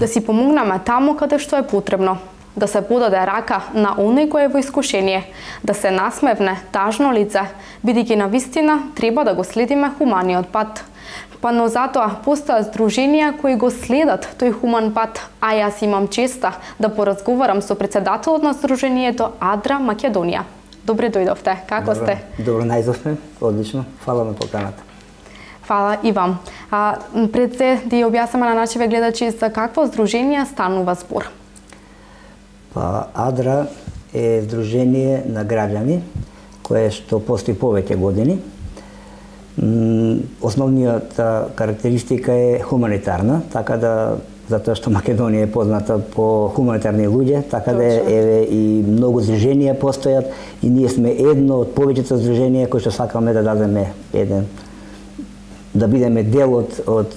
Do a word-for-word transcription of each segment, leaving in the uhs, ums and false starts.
си помогнеме таму каде што е потребно, да се подаде рака на оној кој е во искушение, да се насмевне тажно лице, бидејќи навистина треба да го следиме хуманиот пат. Па но затоа постојат здруженија кои го следат тој хуман пат, а јас имам честа да поразговарам со председателот на здружението Адра Македонија. Добре дојдовте, како Добро, сте? Добро најдовме, одлично, фала на поканата. Фала и вам. А, пред се да ја објасниме на нашите гледачи за какво здружение станува збор. Па Адра е здружение на граѓани кое што постои повеќе години. Основниот карактеристика е хуманитарна, така да затоа што Македонија е позната по хуманитарни луѓе, така да еве и многу здруженија постојат и ние сме едно од повеќето здруженија кои што сакаме да дадеме еден да бидеме дел од од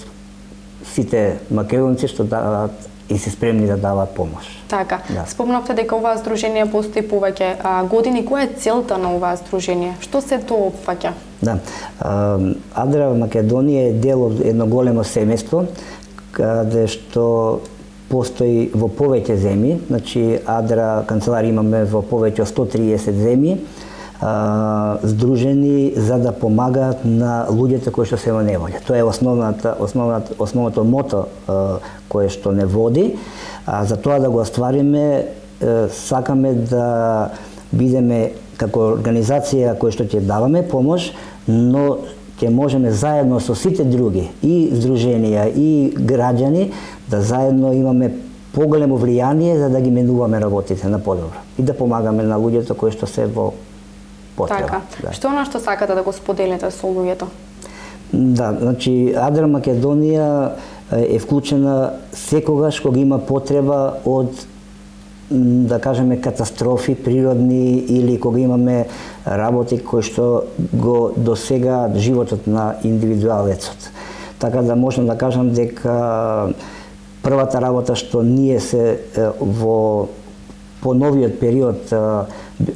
сите македонци што даваат и се спремни да даваат помош. Така, да. Спомнавте дека оваа здружение постои повеќе а, години. Која е целта на оваа здружение? Што се тоа опфаќа? Да. Адра Македонија е дел од едно големо семејство каде што постои во повеќе земји, значи Адра канцеларија имаме во повеќе од сто триесет земји, здружени за да помагаат на луѓето кои што се во неволја. Тоа е основната основната основното мото кое што не води, а за тоа да го оствариме сакаме да бидеме како организација која што ќе даваме помош, но ќе можеме заедно со сите други и здруженија и граѓани да заедно имаме поголемо влијание за да ги менуваме работите на подобро и да помагаме на луѓето кои што се во потреба. Така. Да. Што она што сакате да го споделите со луѓето? Да, значи Адра Македонија е вклучена секогаш кога има потреба од да кажеме катастрофи природни или кога имаме работи кои што го досегаат животот на индивидуалецот. Така да можам да кажам дека првата работа што ние се во по новиот период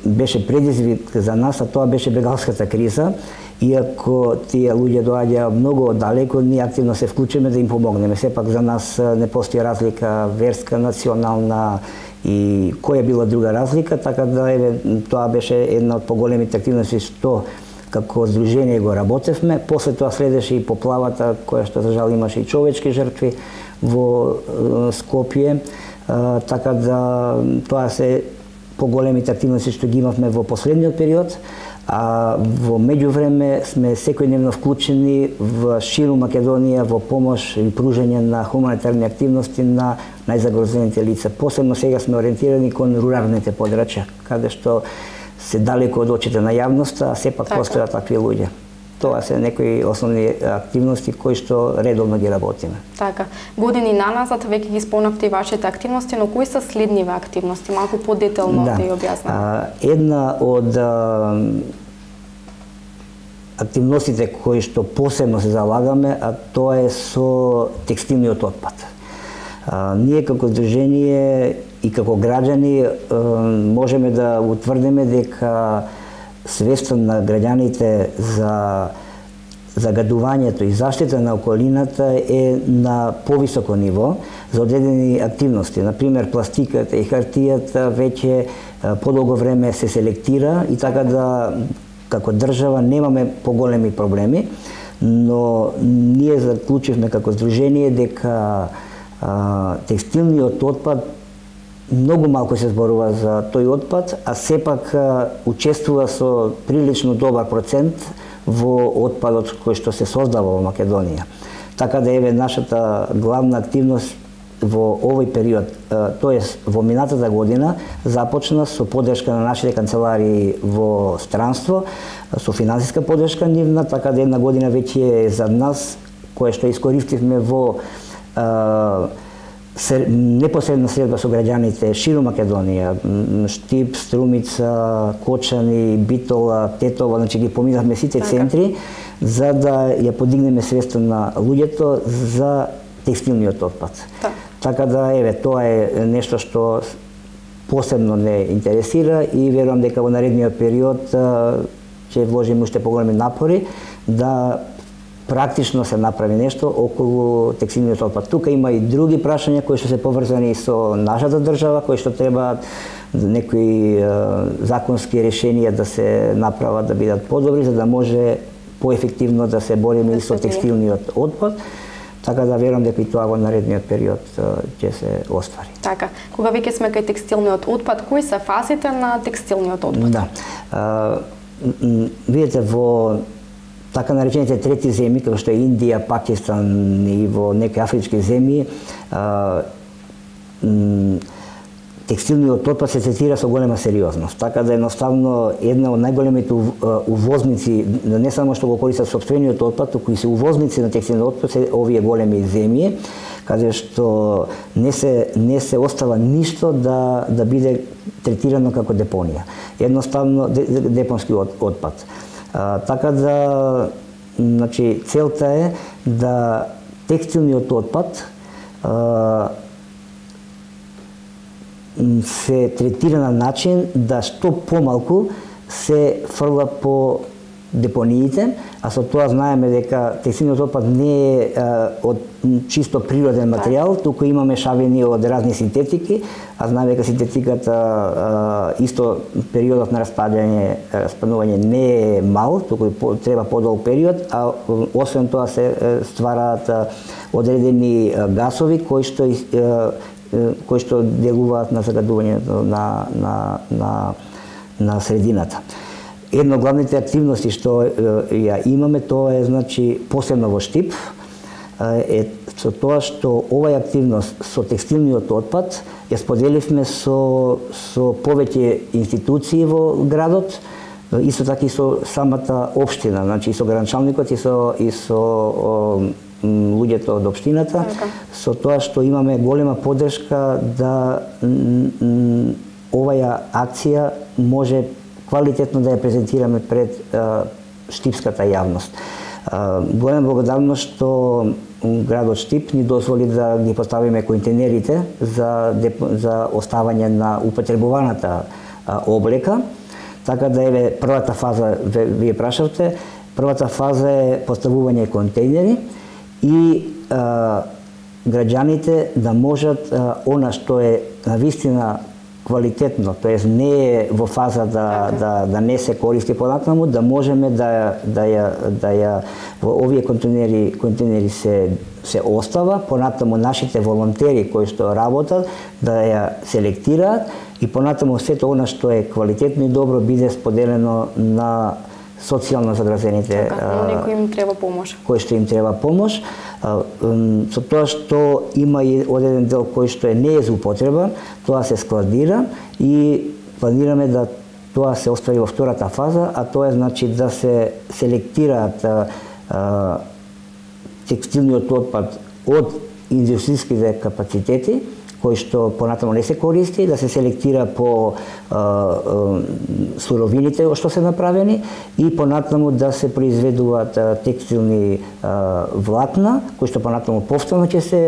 беше предизвик за нас, а тоа беше бегалската криза. Иако тие луѓе доаѓаа многу оддалеку, ние активно се вклучиме да им помогнеме. Сепак за нас не постои разлика верска, национална и која била друга разлика, така да еве тоа беше една од поголемите активности што како здружение го работевме. После тоа следеше и поплавата која што за жал имаше и човечки жртви во Скопје, така да тоа се поголемите активности што ги имавме во последниот период. А во меѓувреме сме секојдневно вклучени во ширу Македонија во помош и пружање на хуманитарни активности на најзагрозените лица. Посебно сега сме ориентирани кон руралните подрачја, каде што се далеко од очите на јавноста, а сепак така постојат такви луѓе. Тоа се некои основни активности кои што редовно ги работиме. Така. Години наназад веќе ги спомнавте и вашите активности, но кои се следниве активности? Малку подетелно да, да ја објаснете. Една од а, активностите кои што посебно се залагаме, а тоа е со текстилниот отпад. А, ние како здружение и како граѓани а, можеме да утврдиме дека свеста на граѓаните за загадувањето и заштита на околината е на повисоко ниво за одредени активности. Например, пластиката и хартијата веќе подолго време се селектира и така да како држава немаме поголеми проблеми, но ние заклучивме како здружение дека а, текстилниот отпад многу малку се зборува за тој отпад, а сепак а, учествува со прилично добар процент во отпадот кој што се создава во Македонија. Така да еве нашата главна активност во овој период, тоест во минатата година, започна со поддршка на нашите канцеларии во странство, со финансиска поддршка нивна, така да една година веќе е за нас, кое што искористивме во а, непосредна средба со граѓаните широ Македонија, Штип, Струмица, Кочани, Битола, Тетова, значи ги поминавме сите центри за да ја подигнеме свеста на луѓето за текстилниот отпад. Да. Така да еве тоа е нешто што посебно не интересира и верувам дека во наредниот период ќе вложиме уште поголеми напори да практично се направи нешто околу текстилниот отпад. Тука има и други прашања кои што се поврзани со нашата држава, кои што треба некои законски решенија да се направат, да бидат подобри, за да може поефективно да се бориме и со текстилниот отпад. Така да верувам дека и тоа во наредниот период ќе се оствари. Така, кога веќе сме кај текстилниот отпад, кои се фазите на текстилниот отпад? Да. А, видите, во така наречените трети земји, како што е Индија, Пакистан и во некои афрички земји, а, текстилниот отпад се третира со голема сериозност. Така да едноставно една од најголемите увозници, не само што го користат сопствениот отпад, туку и се увозници на текстилниот отпад се овие големи земји, каде што не се не се остава ништо да да биде третирано како депонија. Едноставно депонски отпад. А, така да, значи, целта е да текстилниот отпад а, се третира на начин да што помалку се фрла по депониите, а со тоа знаеме дека текстилниот отпад не е а, од чисто природен материјал, туку има мешавини од разни синтетики, а знаеме дека синтетиката а, исто периодот на распаѓање, распаднување не е мал, туку по, треба подолг период, а освен тоа се ствараат одредени гасови кои што кои што делуваат на загадувањето на на на на средината. Една од главните активности што ја имаме, тоа е, значи, посебно во Штип, е со тоа што оваа активност со текстилниот отпад ја споделивме со со повеќе институции во градот, исто така и со самата општина, значи и со градоначалникот и со и со о, луѓето од општината, со тоа што имаме голема поддршка да оваа акција може квалитетно да ја презентираме пред а, штипската јавност. А, голема благодарност што градот Штип ни дозволи да ги поставиме контейнерите за, за оставање на употребуваната а, облека. Така да еве првата фаза, вие прашавте, првата фаза е поставување контейнери и а, граѓаните да можат а, она што е навистина квалитетно, тоест не е во фаза да, да, да не се користи понатаму, да можеме да, да, ја, да ја во овие контейнери, контейнери се, се остава, понатаму нашите волонтери кои што работат да ја селектираат и понатаму сето она што е квалитетно и добро биде споделено на социјално загрозените, така, им треба помош. Кои што им треба помош, со тоа што има и одреден дел кој што е не е за употреба, тоа се складира и планираме да тоа се оствари во втората фаза, а тоа е, значи, да се селектираат а, текстилниот отпад од индустријските капацитети кои што понатаму не се користи, да се селектира по а, а, суровините што се направени и понатаму да се произведуваат а, текстилни а, влакна, кои што понатаму повторно ќе се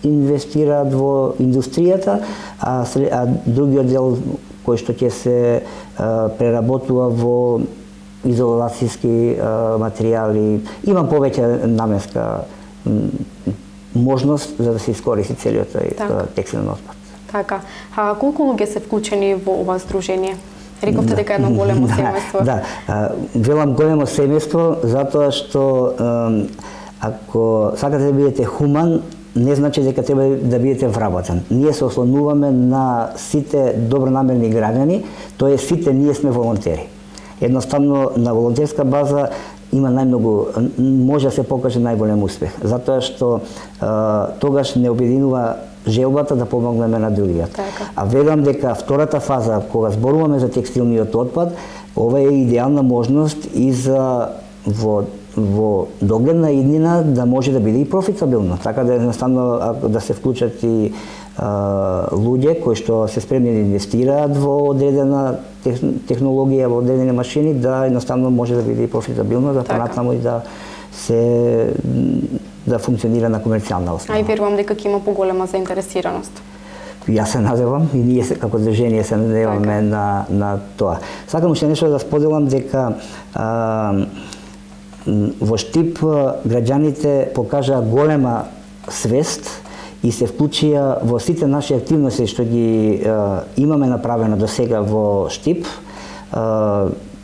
инвестираат во индустријата, а, а другиот дел кој што ќе се а, преработува во изолацијски а, материјали. Има повеќе наменска можност за да се искористи целиот тој така. Текстилен отпад. Така. А колку луѓе се вклучени во ова здружение? Рековте дека е едно големо семејство. Да, да. Велам големо семејство затоа што ако сакате да бидете хуман, не значи дека треба да бидете вработен. Ние се ослонуваме на сите добронамерни граѓани, тоа е сите ние сме волонтери. Едноставно на волонтерска база има најмногу, може да се покаже најголем успех, затоа што а, тогаш не обединува желбата да помогнеме на другиот. Така. А верувам дека втората фаза, кога зборуваме за текстилниот отпад, ова е идеална можност и за во во догледна иднина да може да биде и профитабилно, така да едноставно да се вклучат и а, луѓе кои што се спремни да инвестираат во одредена технологија, во одредени машини, да едноставно може да биде и профитабилно, да понатаму и да се да функционира на комерцијална основа. А и верувам дека ќе има поголема заинтересираност. Јас се надевам и ние се, како движение се надеваме на на тоа. Сакам уште нешто да споделам дека а, во Штип граѓаните покажаа голема свест и се вклучија во сите наши активности што ги е, имаме направено до сега во Штип, е,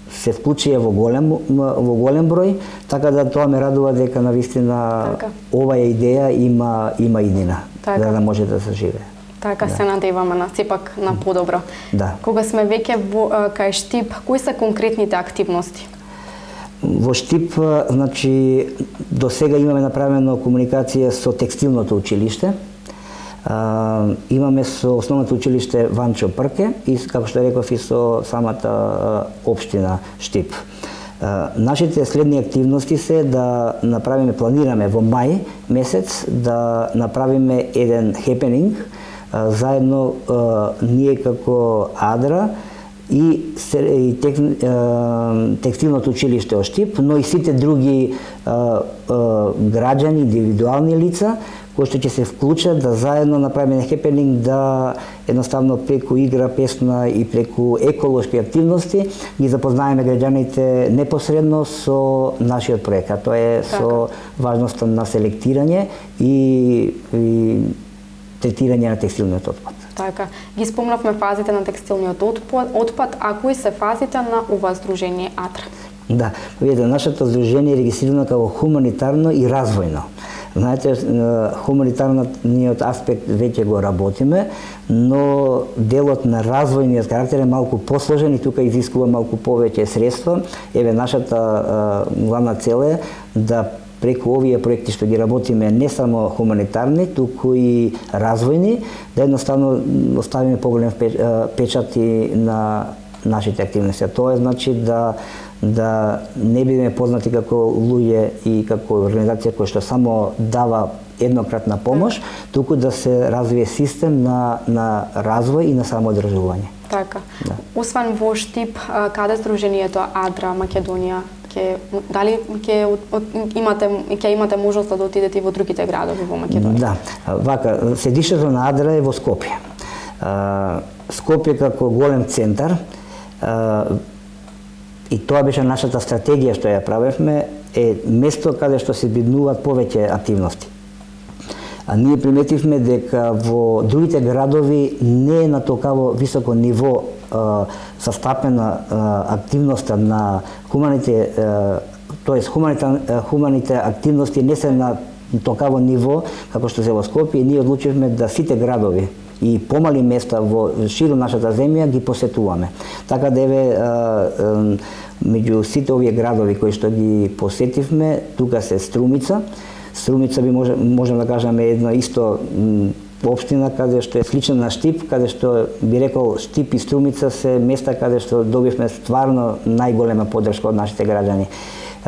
се вклучија во голем во голем број, така да тоа ме радува дека навистина така. Оваа идеја има има иднина, така. Да, да може да се живее. Така да. Се надеваме на сепак на подобро. Да. Кога сме веќе во кај Штип, кои се конкретните активности? Во Штип, значи, до сега имаме направено комуникација со текстилното училиште. Uh, имаме со основното училиште Ванчо Прке и, како што реков, и со самата uh, општина Штип. Uh, нашите следни активности се да направиме, планираме во мај месец да направиме еден хепенинг uh, заедно uh, ние како Адра и, и тек, uh, текстилното училиште од Штип, но и сите други uh, uh, граѓани, индивидуални лица кои што ќе се вклучат да заедно направиме хепенинг, да едноставно преку игра, песна и преку еколошки активности ги запознаеме граѓаните непосредно со нашиот проект, а тоа е така. Со важноста на селектирање и, и третирање на текстилниот отпад. Така, ги спомнавме фазите на текстилниот отпад, а кои се фазите на ова здружение Адра? Да, видите, нашето здружение е регистрирано како хуманитарно и развојно. Знаете, хуманитарниот аспект веќе го работиме, но делот на развојниот карактер е малку посложен и тука изискува малку повеќе средства. Еве, нашата а, главна цел е да преку овие проекти што ги работиме не само хуманитарни, туку и развојни, да едноставно оставиме поголем печат и на нашите активности. Тоа е значи да да не бидеме познати како луѓе и како организација која што само дава еднократна помош, туку да се развие систем на на развој и на самоодржување. Така. Да. Освен во Штип, каде здружението Адра Македонија ќе дали ќе имате ќе имате можност да отидете и во другите градови во Македонија? Да. Вака, седишето на Адра е во Скопје. Скопје како голем центар, и тоа беше нашата стратегија што ја правевме, е место каде што се биднуваат повеќе активности. А ние приметивме дека во другите градови не е на толкаво високо ниво а, застапена а, активноста на хуманите, тоест хуманите, хуманите активности не се на толкаво ниво како што се во Скопје, и ние одлучивме да сите градови и помали места во широ нашата земја ги посетуваме. Така да еве меѓу сите овие градови кои што ги посетивме, тука се Струмица. Струмица би може можем да кажеме едно исто општина каде што е слична на Штип, каде што би рекол Штип и Струмица се места каде што добивме стварно најголема поддршка од нашите граѓани.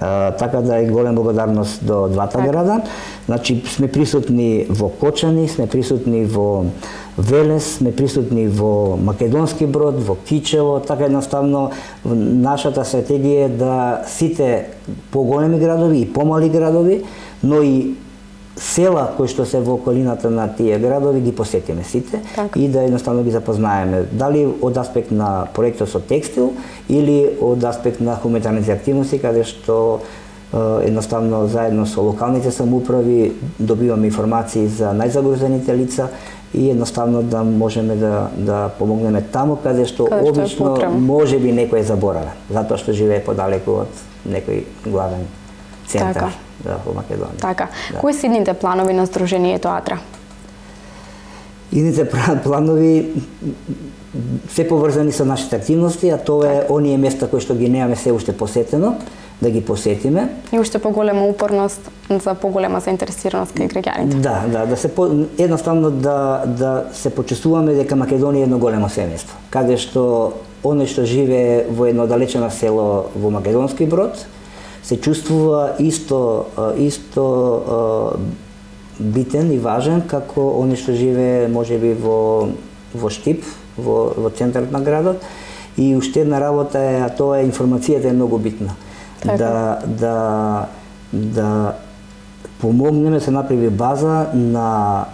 Uh, така да е голема благодарност до двата так. Града. Значи сме присутни во Кочани, сме присутни во Велес, сме присутни во Македонски Брод, во Кичево, така едноставно нашата стратегија е да сите поголеми градови и помали градови, но и села кои што се во околината на тие градови ги посетиме сите так. И да едноставно ги запознаеме, дали од аспект на проектот со текстил или од аспект на хуманитарните активности, каде што едноставно заедно со локалните самоуправи добиваме информации за најзагрозените лица и едноставно да можеме да да помогнеме таму каде што каде обично можеби некој забораве, затоа што живее подалеку од некој главен центар. Така. Да, во Македонија. Така. Да. Кои се идните планови на здружението Адра? Идните планови се поврзани со нашите активности, а тоа е оние места кои што ги немаме се уште посетено, да ги посетиме. И уште поголема упорност за поголема заинтересираност кај граѓаните. Да, да, да се по, едноставно да да се почувствуваме дека Македонија е едно големо семејство, каде што оној што живее во едно далечено село во Македонски Брод се чувствува исто исто битен и важен како оној што живее можеби во во Штип, во во центарот на градот. И уште една работа е, а тоа е информацијата е многу битна. Така. Да да да помогнеме се направи база на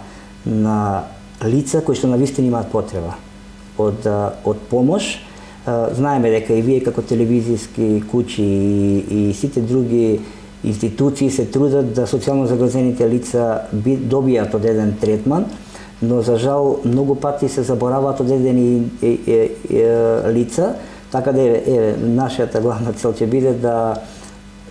на лица кои што навистина имаат потреба од од помош. Знаеме дека и вие како телевизиски куќи и, и сите други институции се трудат да социјално загрозените лица добијат одреден третман, но за жал многу пати се забораваат одредени лица, така да е, е нашата главна цел ќе биде да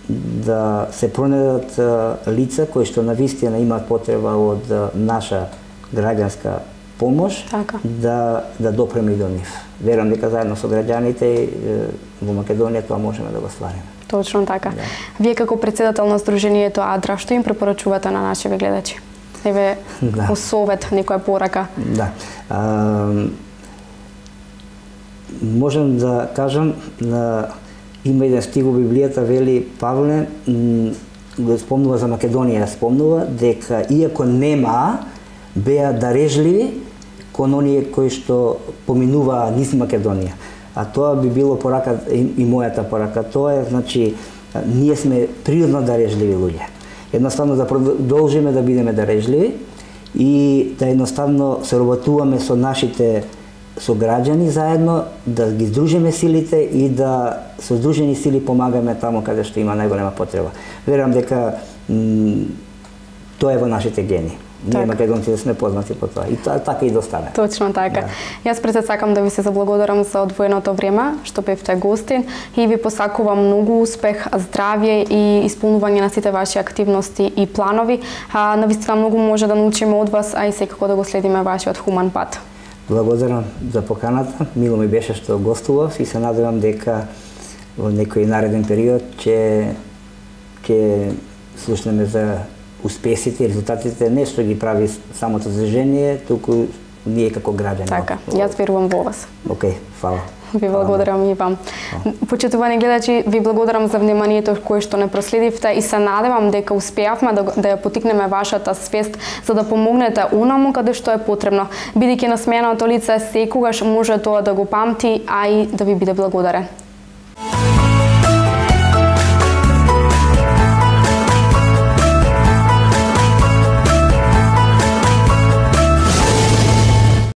да се пронајдат лица кои што навистина имаат потреба од наша граѓанска помош, така. да да допреме до нив. Верувам дека заедно со граѓаните во Македонија тоа можеме да го ствариме. Точно така. Да. Вие како председател на Сдруженијето Адра, што им препорачувате на нашите гледачи? Еве, да. Совет, некоја порака. Да. А, можам да кажам, на има еден стих во Библијата, вели Павле, го спомнува за Македонија, спомнува дека иако нема, беа дарежливи кон оние кои што поминуваа низ Македонија. А тоа би било порака и, и мојата порака. Тоа е, значи, ние сме природно дарежливи луѓе. Едноставно да продолжиме да бидеме дарежливи и да едноставно се работуваме со нашите сограѓани заедно, да ги здружиме силите и да со здружени сили помагаме таму каде што има најголема потреба. Верувам дека тоа е во нашите гени. Ние македонците сме познати по тоа. И тоа така и достане. Точно така. Да. Јас пред се сакам да ви се заблагодарам за одвоеното време што бевте гостин и ви посакувам многу успех, здравје и исполнување на сите ваши активности и планови. А навистина многу може да научиме од вас, а и секако да го следиме вашиот хуман пат. Благодарам за поканата. Мило ми беше што гостував и се надевам дека во некој нареден период ќе ќе слушнеме за успесите и резултатите, не што ги прави самото Сдружение, туку ние како граѓани. Така, јас верувам во вас. Океј, фала. Ви благодарам и вам. Почитувани гледачи, ви благодарам за вниманието кое што не проследивте и се надевам дека успеавме да, да ја потикнеме вашата свест за да помогнете унаму каде што е потребно, бидејќи насмеаното лице секогаш може тоа да го памти, а и да ви биде благодарен.